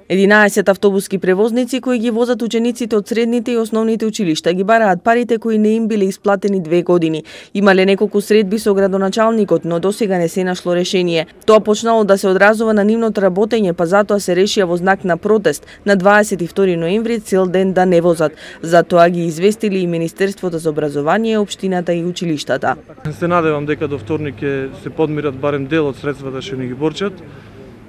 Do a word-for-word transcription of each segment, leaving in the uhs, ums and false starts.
единаесет автобуски превозници кои ги возат учениците од средните и основните училишта ги бараат парите кои не им биле исплатени две години. Имале неколку средби со градоначалникот, но досега не се нашло решение. Тоа почнало да се одразува на нивното работење, па затоа се решија во знак на протест на дваесет и втори ноември цел ден да не возат. Затоа ги известили и Министерството за образование, општината и училиштата. Се надевам дека до вторник ќе се подмират барем дел од средствата што ни ги борчат,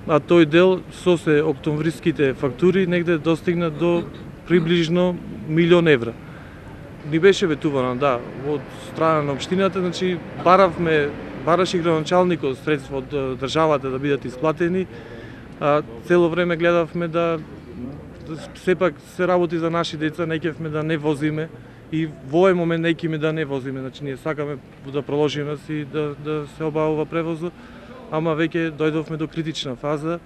а тој дел со се октомвриските фактури негде достигна до приближно милион евра. Ни беше ветувано, да, од страна на општината, значи баравме, бараше градоначалникот средства од државата да бидат исплатени, а цело време гледавме да, да сепак се работи за наши деца, не ќевме да не возиме и во овој момент не ќеме да не возиме, значи ние сакаме да продолжиме си да да се обавува превозот. Ама веќе дојдовме до критична фаза,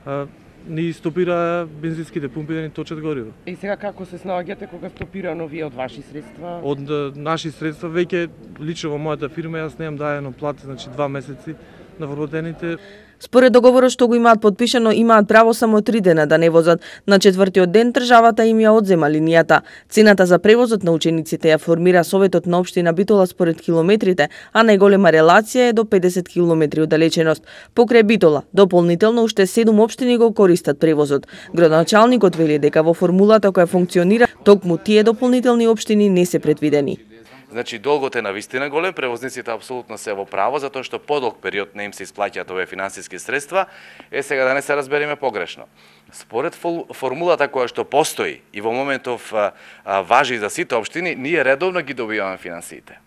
а, ни стопира бензинските пумпи да ни точат гориво. И сега како се снаоѓате кога стопирано вие од ваши средства? Од наши средства веќе лично во мојата фирма јас немам дајано плата, значи два месеци на вработените. Според договорот што го имаат подпишано, имаат право само три дена да не возат. На четвртиот ден државата им ја одзема линијата. Цената за превозот на учениците ја формира Советот на општина Битола според километрите, а најголема релација е до педесет километри оддалеченост. Покрај Битола, дополнително уште седум општини го користат превозот. Градоначалникот вели дека во формулата која функционира, токму тие дополнителни општини не се предвидени. Значи, долгот е навистина голем, превозниците апсолутно се во право, затоа што подолг период не им се исплаќаат овие финансиски средства. Е, сега да не се разбереме погрешно. Според формулата која што постои и во моментов а, а, важи за сите општини, ние редовно ги добиваме финансиите.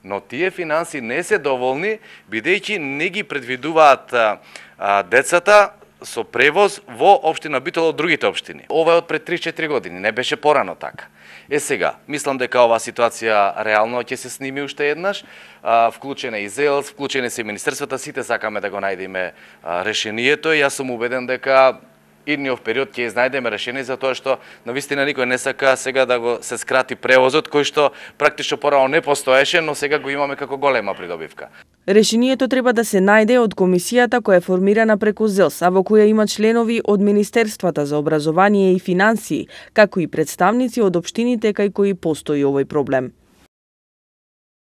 Но тие финанси не се доволни, бидејќи не ги предвидуваат а, а, децата со превоз во општина Битола од другите општини. Ова е од пред три-четири години, не беше порано така. Е сега, мислам дека оваа ситуација реално ќе се сними уште еднаш, а, вклучен е и ЗЕЛС, вклучени се и министерствата, сите сакаме да го најдеме а, решението и јас сум убеден дека идниот период ќе изнајдеме решение за тоа што навистина никој не сака сега да го се скрати превозот кој што практично порано не постоеше, но сега го имаме како голема придобивка. Решението треба да се најде од комисијата која е формирана преку ЗЕЛС, а во која има членови од Министерствата за образование и финансии, како и представници од општините кај кои постои овој проблем.